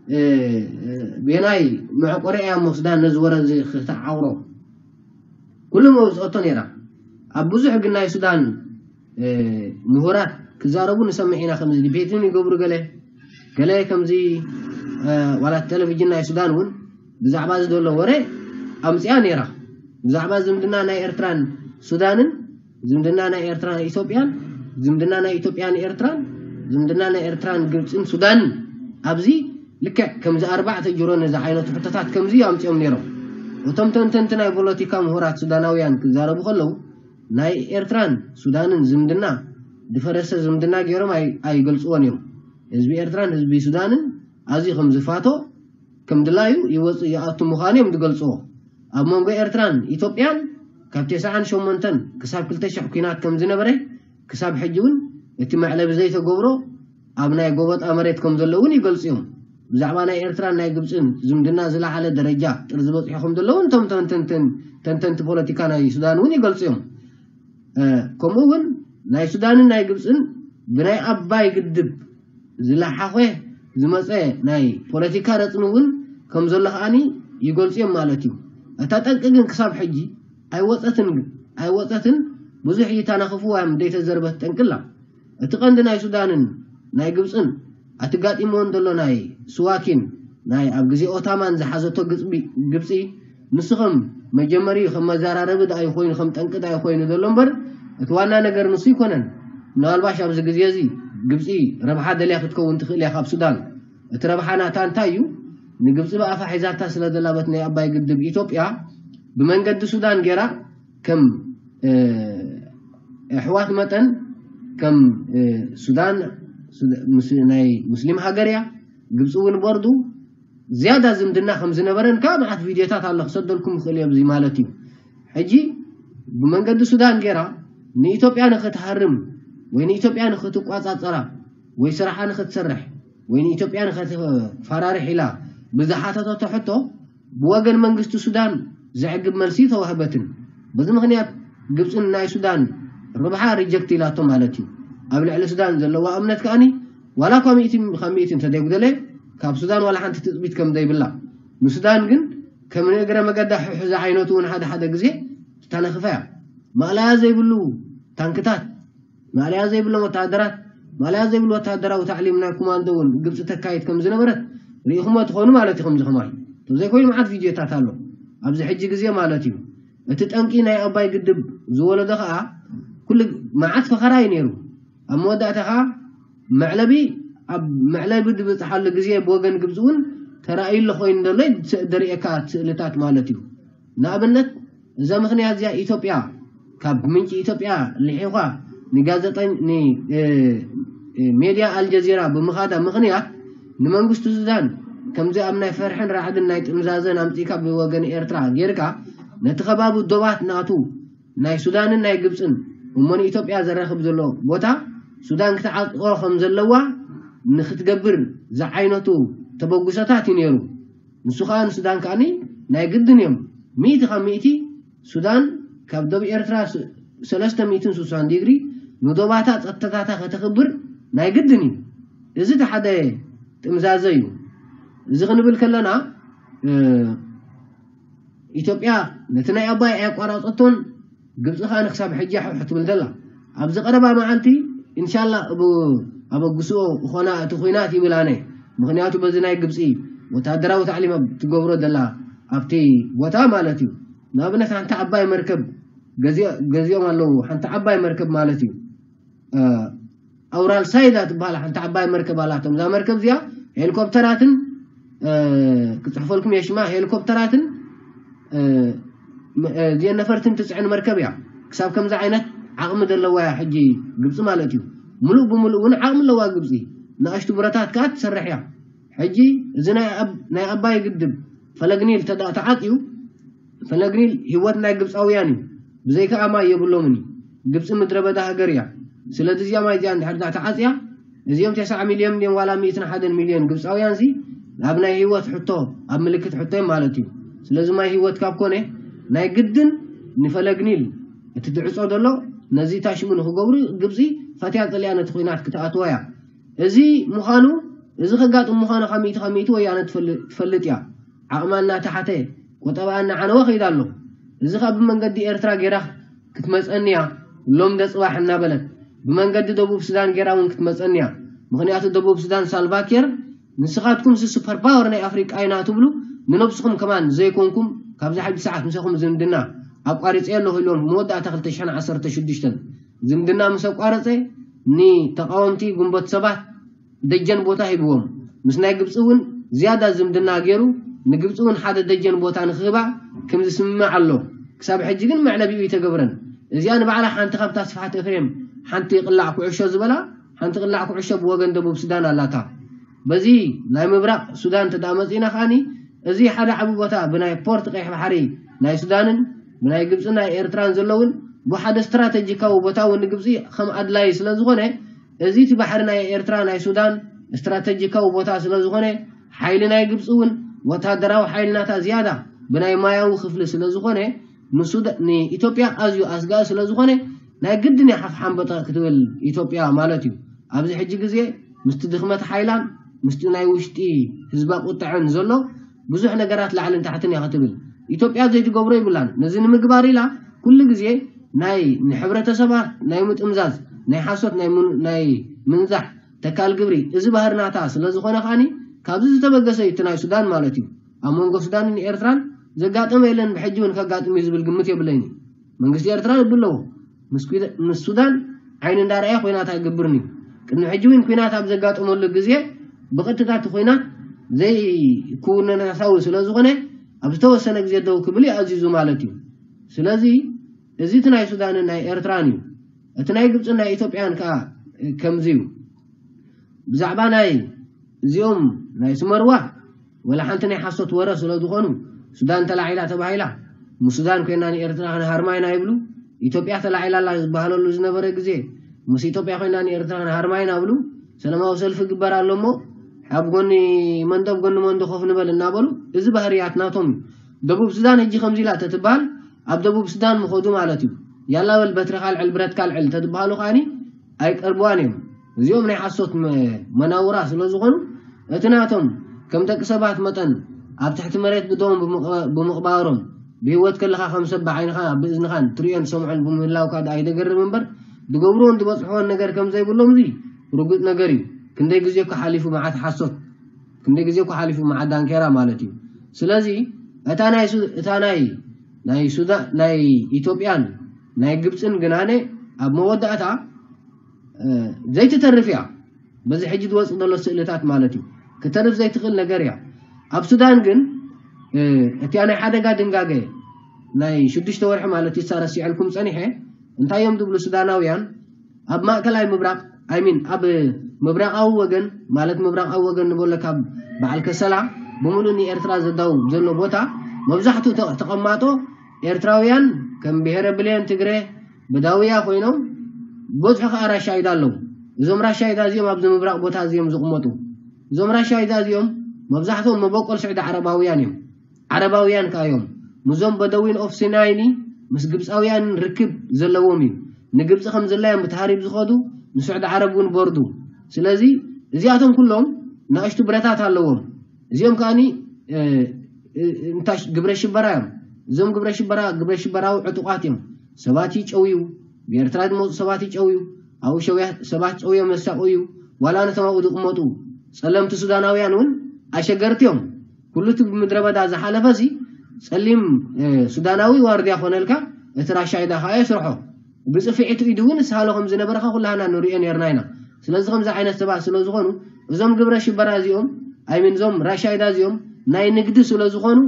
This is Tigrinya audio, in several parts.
እ፣ እ፣ ቤናይ መዕቆሪ እያ እሞ ሱዳን ነዚ ወረ እዚ ክትዓውሮ ኩሉ መውፅኦቶ ነይራ። ኣብ ብዙሕ ግን ናይ ሱዳን እ፣ ምሁራት ክዛረቡ ንሰምዕ ኢና። ከምዚ ዲቤት እውን ይገብሩ፣ ገለ ገለ ከምዚ እ፣ ዋላ ቴሌቪዥን ናይ ሱዳን እውን ብዛዕባ እዚ ዘሎ ወረ ኣምፅያ ነይራ። ብዛዕባ ዝምድና ናይ ኤርትራን ሱዳንን፣ ዝምድና ናይ ኤርትራን ኢትዮጵያን፣ ዝምድና ናይ ኢትዮጵያን ኤርትራን፣ ዝምድና ናይ ኤርትራን ግብፅን ሱዳንን፣ ኣብዚ ልክዕ ከምዚ ኣርባዕተ ጅሮ ነዚ ዓይነት ሕቶታት ከምዚ ኣምፅኦም ነይሮም። እቶም ተንተንቲ ናይ ፖለቲካ ምሁራት ሱዳናውያን ክዛረቡ ከለዉ ናይ ኤርትራን ሱዳንን ዝምድና ዝፈረሰ ዝምድና ገይሮም ኣይ- ኣይገልፅዎን እዮም። ህዝቢ ኤርትራን ህዝቢ ሱዳንን ኣዝዩ ከም ዝፋቶ፣ ከም ድላዩ ይወፅእ ይኣቱ ምዃኑ እዮም ዝገልፅዎ። ኣብ መንጎ ኤርትራን ኢትዮጵያን ካብ ተስዓን ሸሞንተን ክሳብ ክልተ ሽሕ ኲናት ከም ዝነበረ፣ ክሳብ ሕጂ እውን እቲ መዕለቢ ዘይተገብሮ ኣብ ናይ ጎበጣ መሬት ከም ዘሎ እውን ይገልፁ እዮም። ብዛዕባ ናይ ኤርትራን ናይ ግብፅን ዝምድና ዝለዓለ ደረጃ ጥርዚ በፂሑ ከም ዘሎ እውን እቶም ተንተንትን ተንተንቲ ፖለቲካ ናይ ሱዳን እውን ይገልፁ እዮም። እ፣ ከምኡ እውን ናይ ሱዳንን ናይ ግብፅን ብናይ ኣባይ ግድብ ዝለሓኸ ዝመፀ ናይ ፖለቲካ ረፅሚ እውን ከም ዘሎ ከዓኒ ይገልፁ እዮም ማለት እዩ። እታ ጠንቂ ግን ክሳብ ሕጂ ኣይወፀትን፣ ኣይወፀትን፣ ብዙሕ እይታ ናኽፍዋ እዮም ዘይተዘርበት ጠንቅላ። እቲ ቀንዲ ናይ ሱዳንን ናይ ግብፅን ኣትጋጢምዎን ዘሎ ናይ ስዋኪን ናይ ኣብ ግዜ ኦታማን ዝሓዘቶ ግፅቢ- ግብፂ ንሱ ከም መጀመሪ ከም መዘራረቢ ደኣ ይኮይኑ ከም ጠንቂ ደኣ ይኮይኑ ዘሎ እምበር እቲ ዋና ነገር ንሱ ይኮነን። ምናልባሽ ኣብዚ ግዜ እዚ ግብፂ ረብሓ ደልያ ክትከውን ትኽእል እያ ካብ ሱዳን። እቲ ረብሓ ናታ እንታይ እዩ? ንግብፂ ብኣፋ ሒዛታ ስለ ዘላ በት ናይ ኣባይ ግድብ ኢትዮጵያ ብመንገዲ ሱዳን ገይራ ከም እ፣ ኣሕዋት መጠን ከም እ፣ ሱዳን ሱዳ- ምስ- ናይ ሙስሊም ሃገር እያ። ግብፂ እውን ቦርዱ ዝያዳ ዝምድና ከም ዝነበረን ካብ መዓት ቪድዮታት ኣሎ ክሰደልኩም ይኽእል እየ ኣብዚ ማለት እዩ። ሕጂ ብመንገዲ ሱዳን ገይራ ንኢትዮጵያ ንክትሃርም ወይ ንኢትዮጵያ ንክትቋፃፀራ ወይ ስራሓ ንክትሰርሕ ወይ ንኢትዮጵያ ንክትፈራርሕ ኢላ ብዝሓተተቶ ሕቶ ብወገን መንግስቲ ሱዳን ዘዕግብ መልሲ ተዋህበትን። በዚ ምክንያት ግብፅን ናይ ሱዳን ረብሓ ሪጀክት ኢላቶ ማለት እዩ። ኣብ ልዕሊ ሱዳን ዘለዋ እምነት ከኣኒ ዋላ እኳ ሚእቲ ካብ ሚእቲ እንተደጉደለ ካብ ሱዳን ዋላ ሓንቲ ትፅቢት ከም ዘይብላ ንሱዳን ግን ከም ንእግረ መገዳ ሕሕዚ ዓይነቱ እውን ሓደ ሓደ ግዜ ትተነኽፈ እያ። ማእለያ ዘይብሉ ታንክታት ማእለያ ዘይብሎም ወተሃደራት ማእለያ ዘይብሉ ወተሃደራዊ ታዕሊም ናይ ኮማንዶ እውን ግብፂ ተካይድ ከም ዝነበረት ርኢኹሞ ትኾኑ ማለት እዩ። ከምዚ ከማይ ተዘይኮይኑ መዓት ቪድዮታት ኣሎ ኣብዚ ሕጂ ግዜ ማለት እዩ። እቲ ጠንቂ ናይ ኣባይ ግድብ ዝወለዶ ከዓ ኩሉ መዓት ፈኸራ እዩ ነይሩ። ኣብ መወዳእታ ከዓ መዕለቢ ኣብ መዕለቢ ዝበፅሓሉ ግዜ ብወገን ግብፂ እውን ተራእዩ ኣሎ ኮይኑ ዘሎ ደሪኤካ ስእልታት ማለት እዩ። ንኣብነት እዛ ምክንያት እዚኣ ኢትዮጵያ ካብ ምንጪ ኢትዮጵያ ልሒኳ ንጋዜጠኝ ን ሜድያ ኣልጀዚራ ብምኻዳ ምክንያት ንመንግስቲ ሱዳን ከምዚ ኣብ ናይ ፈርሕን ራዕድን ናይ ጥምዛዘን ኣምፂካ ብወገን ኤርትራ ጌርካ ነቲ ከባቢ ዶባት ናቱ ናይ ሱዳንን ናይ ግብፅን እሞ ንኢትዮጵያ ዘራኽብ ዘሎ ቦታ ሱዳን ክትዓጥቆ ከም ዘለዋ ንክትገብር ዝዓይነቱ ተበጉሰታት እዩ ነይሩ። ንሱ ከዓ ንሱዳን ከዓኒ ናይ ግድን እዮም ሚእቲ ካብ ሚእቲ ሱዳን ካብ ዶብ ኤርትራ ሰለስተ ሚእትን ስሳን ዲግሪ ንዶባታ ፀጥታታ ከተኽብር ናይ ግድን እዩ። እዚ እቲ ሓደ ጥምዛዘ እዩ። እዚ ክንብል ከለና ኢትዮጵያ ነቲ ናይ ኣባይ ኣያቋራፀቶን ግብፂ ከዓ ንክሳብ ሕጂ ሕሕ ትብል ዘላ ኣብዚ ቀረባ መዓልቲ እንሻላ ኣበግስኦ እኾና እቲ ኩናት ይብል ኣነ። ምክንያቱ በዚ ናይ ግብፂ ወታደራዊ ታዕሊም ትገብሮ ዘላ ኣብቲ ቦታ ማለት እዩ። ንኣብነት ሓንቲ ዓባይ መርከብ ገዚኦም ኣለዉ ሓንቲ ዓባይ መርከብ ማለት እዩ። ኣውራል ሳይዳ ትበሃል ሓንቲ ዓባይ መርከብ ኣላቶም እዛ መርከብ እዚኣ ሄሊኮፕተራትን ክፅሕፈልኩም የሽማ ሄሊኮፕተራትን እዚአን ነፈርትን ትፅዕን መርከብ እያ። ክሳብ ከምዚ ዓይነት ዓቕሚ ዘለዋ እያ ሕጂ ግብፂ ማለት እዩ። ሙሉእ ብሙሉእ እውን ዓቕሚ ኣለዋ ግብፂ። ንኣሽቱ ብረታት ከዓ ትሰርሕ እያ። ሕጂ እዚ ናይ ኣባይ ግድብ ፈለግኒል ተዓፅዩ ፈለግኒል ህይወት ናይ ግብፃውያን እዩ። ብዘይከዓ ማይ የብሎምን እዩ። ግብፂ ምድረ በዳ ሃገር እያ። ስለዚ እዚኣ ማይ እዚኣ እንድሕር ተዓፅያ እዚኦም ተስዓ ሚልዮን ድዮም ዋላ ሚእትን ሓደን ሚልዮን ግብፃውያን ሲ ኣብ ናይ ህይወት ሕቶ ኣብ ምልክት ሕቶ እዮም ማለት እዩ። ስለዚ ማይ ህይወት ካብ ኮነ ናይ ግድን ንፈለግ ኒል እቲ ትዕፆ ዘሎ ነዚ ታሽሙ ንክገብሩ ግብፂ ፈትያ ፀሊያ ነቲ ኩናት ክትኣትዎ እያ። እዚ ምዃኑ እዚ ከጋጥም ምዃኑ ካብ ሚእቲ ካብ ሚእቲ ወያነ ትፈልጥ እያ። ዓቕማ እናተሓተ፣ ቆጠባ እናዓነወ ከይዳ ኣሎ። እዚ ካብ ብመንገዲ ኤርትራ ገይራ ክትመፀኒ እያ፣ ሎም ደፅባሕ እናበለት ብመንገዲ ደቡብ ሱዳን ገይራ እውን ክትመፀኒ እያ። ምክንያቱ ደቡብ ሱዳን ሳልቫኪር ንስኻትኩም ሲ ሱፐር ፓወር ናይ ኣፍሪቃ ኢና ትብሉ፣ ንነብስኹም ከማን ዘይኮንኩም ካብዛ ሕጂ ሰዓት ምሳኹም ዝምድና ኣቋሪፀ ኣለኹ ኢሎም መወዳእታ ክልተ ሽሕን ዓሰርተ ሽዱሽተን ዝምድና ምስ ኣቋረፀ ንተቃወምቲ ግንቦት ሰባት ደጀን ቦታ ሂብዎም። ምስ ናይ ግብፂ እውን ዝያዳ ዝምድና ገይሩ ንግብፂ እውን ሓደ ደጀን ቦታ ንክህባ ከም ዝስምምዕ ኣሎ። ክሳብ ሕጂ ግን መዕለቢኡ ይተገብረን። እዚኣ ንባዕላ ሓንቲ ካብታ ስፍሓት ኤፍሬም ሓንቲ ቅላዕ ኩዕሾ ዝበላ ሓንቲ ቅላዕ ኩዕሾ ብወገን ደቡብ ሱዳን ኣላታ። በዚ ናይ ምብራቕ ሱዳን ተዳመፂና ከዓኒ እዚ ሓደ ዓቢ ቦታ ብናይ ፖርት ቀይሕ ባሕሪ ናይ ሱዳንን ብናይ ግብፂ ናይ ኤርትራን ዘለውን ብሓደ ስትራተጂካዊ ቦታ እውን ንግብፂ ከም ኣድላይ ስለ ዝኾነ እዚ እቲ ባሕሪ ናይ ኤርትራ ናይ ሱዳን ስትራተጂካዊ ቦታ ስለ ዝኾነ ሓይሊ ናይ ግብፂ እውን ወታደራዊ ሓይሊ ናታ ዝያዳ ብናይ ማያዊ ክፍሊ ስለ ዝኾነ ንሱዳ- ንኢትዮጵያ ኣዝዩ ኣስጋኢ ስለ ዝኾነ ናይ ግድን እያ ሓፍ ሓንበጠ ክትብል ኢትዮጵያ ማለት እዩ። ኣብዚ ሕጂ ግዜ ምስቲ ድኽመት ሓይላን ምስቲ ናይ ውሽጢ ህዝባ ቁጥዐን ዘሎ ብዙሕ ነገራት ላዕልን ታሕትን እያ ክትብል። ኢትዮጵያ ዘይትገብሮ ይብላን። ነዚ ንምግባር ኢላ ኩሉ ግዜ ናይ ንሕብረተሰባ ናይ ምጥምዛዝ ናይ ሓሶት ናይ ምን- ናይ ምንዛሕ ተካል ግብሪ እዚ ባህሪ ናታ ስለ ዝኾነ ከዓኒ ካብዚ ዝተበገሰ እዩ እቲ ናይ ሱዳን ማለት እዩ። ኣብ መንጎ ሱዳንን ኤርትራን ዘጋጠመ የለን ብሕጂ እውን ከጋጥም እዩ ዝብል ግምት የብለይን እዩ። መንግስቲ ኤርትራ ልቢ ኣለዎ። ምስ ኩደ- ምስ ሱዳን ዓይኒ እንዳረኣየ ኩናት ኣይገብርን እዩ። ቅድሚ ሕጂ እውን ኩናት ኣብ ዘጋጠመሉ ግዜ ብቐጥታ እቲ ኩናት ዘይክውንነታዊ ስለ ዝኾነ ኣብ ዝተወሰነ ግዜ ደው ክብል እዩ ኣዚዙ ማለት እዩ። ስለዚ እዚ እቲ ናይ ሱዳንን ናይ ኤርትራን እዩ። እቲ ናይ ግብፅን ናይ ኢትዮጵያን ከዓ ከምዚ እዩ። ብዛዕባ ናይ እዚኦም ናይ ስመርዋ ወላ ሓንቲ ናይ ሓሶት ወረ ስለ ዝኾኑ ሱዳን ተላዒላ ተባሂላ ምስ ሱዳን ኮይና ንኤርትራ ክንሃርማ ኢና ይብሉ። ኢትዮጵያ ተላዒላ ኣላ ዝበሃለሉ ዝነበረ ግዜ ምስ ኢትዮጵያ ኮይና ንኤርትራ ክንሃርማ ኢና ብሉ። ሰላማዊ ሰልፊ ግበር ኣሎ እሞ ኣብ ጎኒ መንዶ ኣብ ጎኒ መንዶ ኮፍ ንበል እናበሉ እዚ ባህርያት ናቶም እዩ። ደቡብ ሱዳን ሕጂ ከምዚ ኢላ ተትበሃል ኣብ ደቡብ ሱዳን ምኸዱ ማለት እዩ። ያላ በል በትርካ ልዕል ብረትካ ልዕል ተትበሃሉ ከዓኒ ኣይቀርብዋን እዮም። እዚኦም ናይ ሓሶት መ- መናውራ ስለ ዝኾኑ እቲ ናቶም ከም ደቂ ሰባት መጠን ኣብ ትሕቲ መሬት ብደዎም ብምቕ- ብምቕባሮም ብህይወት ከለኻ ከም ሰብ ብዓይንኻ ብእዝንኻን ትሪኦን ትሰምዖን ብምህላውካ ደኣ ይደገርም እምበር ዝገብርዎን ዝበፅሕዎን ነገር ከም ዘይብሎም እዚ ርጉፅ ነገር እዩ። ክንደይ ግዜ እኮ ሓሊፉ መዓት ሓሶት ክንደይ ግዜ እኮ ሓሊፉ መዓት ዳንኬራ ማለት እዩ። ስለዚ እታ ናይ ሱ- እታ ናይ ናይ ሱዳን ናይ ኢትዮጵያን ናይ ግብፅን ግናነ ኣብ መወዳእታ ዘይትተርፍ እያ። በዚ ሕጂ ዝወፅእ ዘሎ ስእልታት ማለት እዩ ክተርፍ ዘይትኽእል ነገር እያ። ኣብ ሱዳን ግን እቲያ ናይ ሓደጋ ድንጋገ ናይ ሽዱሽተ ወርሒ ማለት እዩ ሳረሲዐልኩም ፀኒሐ እንታይ እዮም ዝብሉ ሱዳናውያን ኣብ ማእከላይ ምብራቕ ኣይሚን ኣብ ምብራቓዊ ወገን ማለት ምብራቓዊ ወገን ንበሎ ካብ በዓል ከሰላ ብምሉእ ንኤርትራ ዘዳው ዘሎ ቦታ መብዛሕትኡ ተቐማጦ ኤርትራውያን ከም ብሄረ ብሌን ትግረ በዳውያ ኮይኖም በዝሑ ከዓ ራሻይዳ ኣለዉ። እዞም ራሻይዳ እዚኦም ኣብዚ ምብራቕ ቦታ እዚኦም ዝቕመጡ እዞም ራሻይዳ እዚኦም መብዛሕትኦም መበቆል ስዑዲ ዓረባውያን እዮም። ዓረባውያን ከዓ እዮም። ምዞም በደዊን ኦፍ ሲናይኒ ምስ ግብፃውያን ርክብ ዘለዎም እዩ። ንግብፂ ከም ዝላዮም ብተሃሪብ ዝኸዱ ንስዑዲ ዓረብ እውን ቦርዱ። ስለዚ እዚኣቶም ኩሎም ንኣሽቱ ብረታት ኣለዎም። እዚኦም ከዓኒ እንታይ ግብረ ሽበራ እዮም። እዞም ግብረ ሽበራ ግብረ ሽበራዊ ዕጡቋት እዮም። ሰባት ይጨውዩ፣ ብኤርትራ ዝመፁ ሰባት ይጨውዩ፣ ኣብኡ ሸውያ ሰባት ጨውዮም የሳቆዩ። ዋላ ነቶም ኣብኡ ዝቕመጡ ፀለምቲ ሱዳናውያን እውን ኣሸገርቲ እዮም። ኩሉ እቲ ብምድረ በዳ ዝሓለፈ ሲ ፀሊም ሱዳናዊ ዋርድያ ኮነልካ እቲ ራሻይዳ ከዓ የስርሖ። ብፅፍዒቱ ኢዱ እውን ዝስሃሎ ከም ዝነበረ ኩላህና ንሪኦ ነርና ኢና። ስለዚ ከምዚ ዓይነት ሰባት ስለ ዝኾኑ እዞም ግብረ ሽበራ እዚኦም ኣይሚን እዞም ራሻይዳ እዚኦም ናይ ንግዲ ስለ ዝኾኑ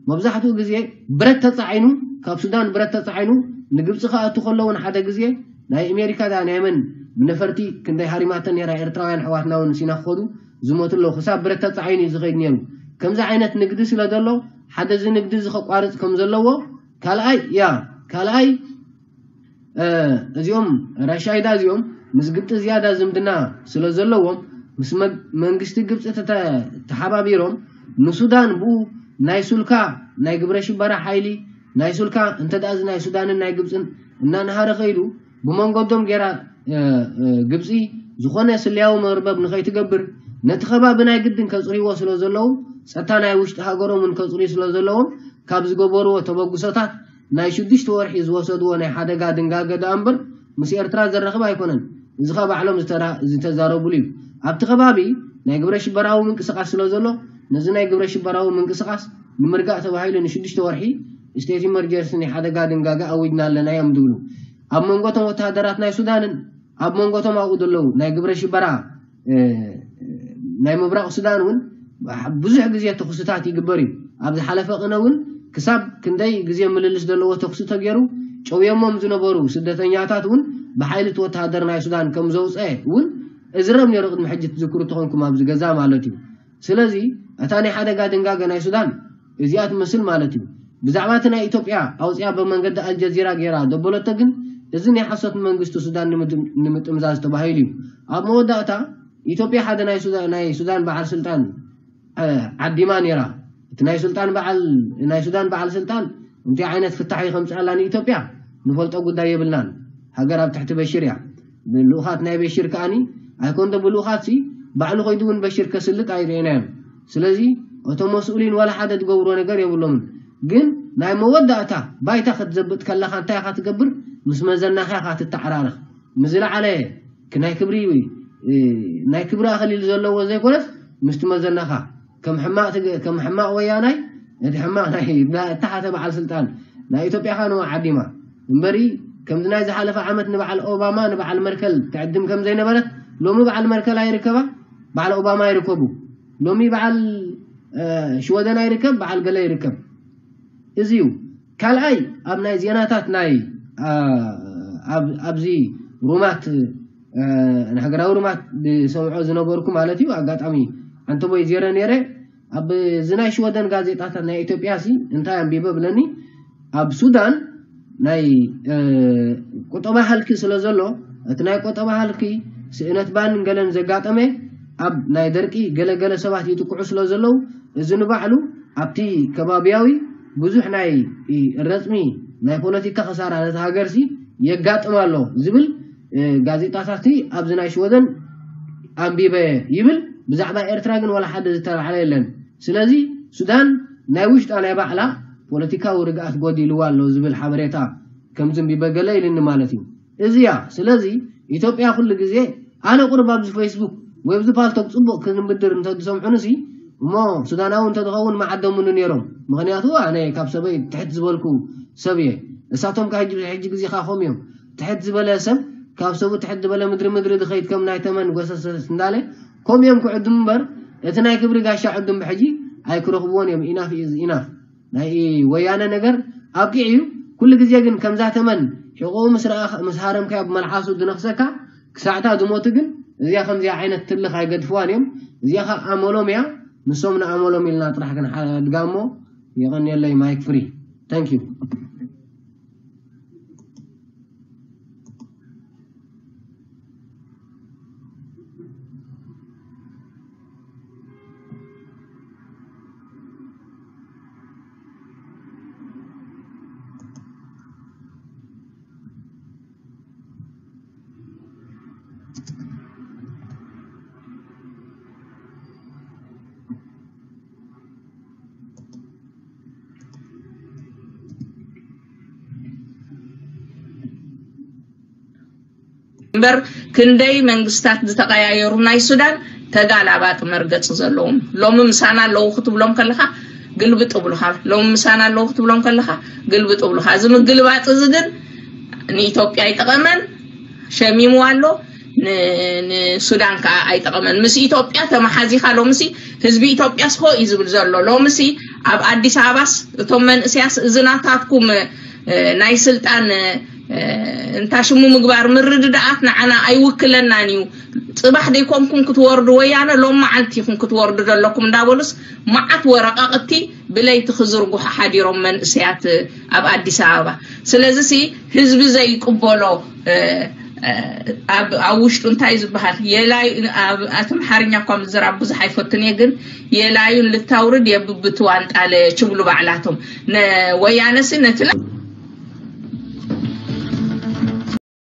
መብዛሕትኡ ግዜ ብረት ተፃዒኑ ካብ ሱዳን ብረት ተፃዒኑ ንግብፂ ክኣቱ ከሎ እውን ሓደ ግዜ ናይ ኣሜሪካ ዳ ናይ መን ብነፈርቲ ክንደይ ሃሪማተን ነራ ኤርትራውያን ኣሕዋትና እውን ሲና ክኸዱ ዝሞቱ ኣለዉ። ክሳብ ብረት ተፃዒኑ እዩ ዝኸይድ ነይሩ። ከምዚ ዓይነት ንግዲ ስለ ዘሎ ሓደ እዚ ንግዲ እዚ ከቋርፅ ከም ዘለዎ ካልኣይ ያ ካልኣይ እዚኦም ራሻይዳ እዚኦም ምስ ግብፂ ዝያዳ ዝምድና ስለ ዘለዎም ምስ መንግስቲ ግብፂ ተሓባቢሮም ንሱዳን ብኡ ናይ ሱልካ ናይ ግብረ ሽበራ ሓይሊ ናይ ሱልካ እንተ ደኣ እዚ ናይ ሱዳንን ናይ ግብፅን እናንሃረ ከይዱ ብመንገዶም ገይራ ግብፂ ዝኾነ ስለያዊ መርበብ ንኸይትገብር ነቲ ከባቢ ናይ ግድን ከጽርይዎ ስለ ዘለዎም፣ ጸጥታ ናይ ውሽጢ ሃገሮም እውን ከጽርዩ ስለ ዘለዎም፣ ካብ ዝገበርዎ ተበግሶታት ናይ ሽዱሽተ ወርሒ ዝወሰድዎ ናይ ሓደጋ ድንጋገ ደኣ እምበር ምስ ኤርትራ ዘራኽብ ኣይኮነን። እዚ ኸኣ ባዕሎም ዝተራ-፣ ዝተዛረቡሉ እዩ። ኣብቲ ከባቢ ናይ ግብረ ሽበራዊ ምንቅስቓስ ስለ ዘሎ፣ ነዚ ናይ ግብረ ሽበራዊ ምንቅስቓስ ንምርጋእ ተባሂሉ ንሽዱሽተ ወርሒ ስቴት ኢመርጀንሲ ናይ ሓደጋ ድንጋገ ኣዊጅና ኣለና እዮም ዝብሉ። ኣብ መንጎ እቶም ወተሃደራት ናይ ሱዳንን ኣብ መንጎ እቶም ኣብኡ ዘለዉ ናይ ግብረ ሽበራ፣ እ፣ ናይ ምብራቕ ሱዳን እውን ብዙሕ ግዜ ተኹስታት ይግበር እዩ። ኣብ ዝሓለፈ ቅነ እውን ክሳብ ክንደይ ግዜ ምልልስ ዘለዎ ተኹሲ ተገይሩ፣ ጨውዮሞም ዝነበሩ ስደተኛታት እውን ብሓይሊ እቲ ወተሃደር ናይ ሱዳን ከም ዘውፀአ እውን እዝረብ ነይሩ፣ ቅድሚ ሕጂ ትዝክሩ ተኾንኩም ኣብዚ ገዛ ማለት እዩ። ስለዚ እታ ናይ ሓደጋ ድንጋገ ናይ ሱዳን እዚኣ ትመስል ማለት እዩ። ብዛዕባ እቲ ናይ ኢትዮጵያ ኣውፅያ ብመንገዲ ኣልጀዚራ ገይራ ደበለቶ ግን፣ እዚ ናይ ሓሶት መንግስቲ ሱዳን ንምድም-፣ ንምጥምዛዝ ተባሂሉ እዩ። ኣብ መወዳእታ ኢትዮጵያ ሓደ ናይ ሱዳ-፣ ናይ ሱዳን በዓል ስልጣን፣ እ፣ ዓዲማ ነይራ። እቲ ናይ ስልጣን በዓል፣ ናይ ሱዳን በዓል ስልጣን እንታይ ዓይነት ፍታሕ እዩ ከምፅኣላ ንኢትዮጵያ ንፈልጦ ጉዳይ የብልናን። ሃገር ኣብ ትሕቲ በሽር እያ። ልኡኻት ናይ በሽር ከኣኒ ኣይኮንዶ ብልኡኻት ሲ ባዕሉ ከይዱ እውን በሽር ከስልጥ ኣይርእናዮም። ስለዚ እቶም መስኡሊን ዋላ ሓደ ዝገብሮ ነገር የብሎምን። ግን ናይ መወዳእታ ባይታ ክትዘብጥ ከለኻ እንታይ ኢኻ ትገብር? ምስ መዘናኻ ኢኻ ትተዓራረኽ። ንዝለዓለ ክ-፣ ናይ ክብሪ፣ እ፣ ናይ ክብሪ ኣኽሊል ዘለዎ ዘይኮነስ ምስቲ መዘናኻ ከም ሕማቕ ትግ-፣ ከም ሕማቕ ወያናይ፣ እቲ ሕማቕ ናይ፣ ናይ እታ ሓተ በዓል ስልጣን ናይ ኢትዮጵያ ኸኣ ንዋ ዓዲማ እምበሪ፣ ከምዚ ናይ ዝሓለፈ ዓመት ንበዓል ኦባማ፣ ንበዓል መርከል ትዕድም ከም ዘይነበረት፣ ሎሚ በዓል መርከል ኣይርከባ፣ በዓል ኦባማ ይርከቡ። ሎሚ በዓል፣ እ፣ ሽወደን ኣይርከብ፣ በዓል ገለ ይርከብ። እዚ እዩ። ካልኣይ፣ ኣብ ናይ ዜናታት ናይ፣ እ፣ ኣብ-፣ ኣብዚ ሩማት፣ እ፣ ንሃገራዊ ሩማት ዝሰምዖ ዝነበርኩ ማለት እዩ። ኣጋጣሚ ዓንተቦይ ዜረ ነይረ። ኣብ እዚ ናይ ሽወደን ጋዜጣታት ናይ ኢትዮጵያ ሲ እንታይ ኣንቢበ ብለኒ፣ ኣብ ሱዳን ናይ፣ እ፣ ቁጠባ ሃልኪ ስለ ዘሎ፣ እቲ ናይ ቁጠባ ሃልኪ ስእነት ባንን ገለን ዘጋጠመ፣ ኣብ ናይ ደርቂ ገለ ገለ ሰባት ይጥቅዑ ስለ ዘለዉ፣ እዚ ንባዕሉ ኣብቲ ከባብያዊ ብዙሕ ናይ ረጽሚ ናይ ፖለቲካ ክሳራ ነቲ ሃገርሲ የጋጥም ኣሎ ዝብል፣ እ፣ ጋዜጣታትሲ ኣብዚ ናይ ሽወደን ኣንቢበ ይብል። ብዛዕባ ኤርትራ ግን ዋላ ሓደ ዝተባዕለ የለን። ስለዚ ሱዳን ናይ ውሽጣ ናይ ባዕላ ፖለቲካዊ ርግኣት ጎዲልዋ ኣሎ ዝብል ሓበሬታ ከም ዝንቢበ ገለ ኢልኒ ማለት እዩ። እዚያ ስለዚ ኢትዮጵያ ኩሉ ግዜ ኣነ ቁርብ ኣብዚ ፌስቡክ ወይ ኣብዚ ፓልቶክ ጽቡቕ ክንብድር እንተዝሰምዑንሲ እሞ ሱዳናዊ እንተዝኸውን መዓደሙኒ ነይሮም። ምኽንያቱ ኣነ ካብ ሰበይ ትሕት ዝበልኩ ሰብ እየ። እሳቶም ከ ሕጂ፣ ሕጂ ግዜ ከ ኮም እዮም። ትሕት ዝበለ ሰብ ካብ ሰቡ ትሕት ዝበለ ምድሪ ምድሪ ዝኸይድ ከም ናይ ተመን ጎሰሰስ እንዳለ ኮም እዮም ክዕድሙ እምበር እቲ ናይ ክብሪ ጋሻ ዕዱም ብሕጂ ኣይክረኽብዎን እዮም። ኢናፍ ኢዝ ኢናፍ። ናይ ወያነ ነገር ኣብቂዕ እዩ። ኩሉ ግዜ ግን ከምዛ ተመን ሕቆኡ ምስ ረኣኻ፣ ምስ ሃረምካዮ ብመልሓሱ ዝነኽሰካ ክሳዕታ ዝሞቱ ግን እዚኣ ከምዚኣ ዓይነት ትልኽ ኣይገድፍዋን እዮም። እዚኣ ኸዓ ኣመሎም እያ። ንሶም ንኣመሎም ኢልና ጥራሕ ክንሓድጋ እሞ የቐንየለይ። ማይክ ፍሪ። Thank you። እምበር ክንደይ መንግስታት ዝተቐያየሩ ናይ ሱዳን ተጋላባጥ መርገጽ ዘለዎም። ሎሚ ምሳና ኣለዉ ክትብሎም ከለኻ ግልብጥ ብሉኻ። ሎሚ ምሳና ኣለዉ ክትብሎም ከለኻ ግልብጥ ብሉኻ። እዚ ምግልባጥ እዚ ግን ንኢትዮጵያ ኣይጠቐመን፣ ሸሚምዋ ኣሎ። ን-፣ ንሱዳን ከኣ ኣይጠቐመን። ምስ ኢትዮጵያ ተመሓዚኻ ሎምሲ ህዝቢ ኢትዮጵያስ ሆ እዩ ዝብል ዘሎ። ሎምሲ ኣብ ኣዲስ ኣበባስ እቶም መንእሰያስ እዚ ናታትኩም፣ እ፣ ናይ ስልጣን፣ እ፣ እንታ ሽሙ ምግባር ምርድዳኣት ንዓና ኣይውክለናን እዩ። ጽባሕ ደይኮንኩም ክትወርዱ ወያነ ሎም መዓልቲ ኢኹም ክትወርዱ ዘለኩም እንዳበሉስ መዓት ወረቃቅቲ ብለይቲ ክዝርግሑ ሓዲሮም መንእሰያት ኣብ ኣዲስ ኣበባ። ስለዚ ሲ ህዝቢ ዘይቅበሎ፣ እ፣ እ፣ ኣብ፣ ኣብ ውሽጡ እንታይ ዝበሃል የላይ፣ ኣብ ኣምሓርኛ እኳ ምዝራብ ብዙሕ ኣይፈቱን እየ፣ ግን የላዩን ልታውርድ የብብትዋን ጣለ ችብሉ ባዕላቶም። ነ-፣ ወያነ ሲ ነቲ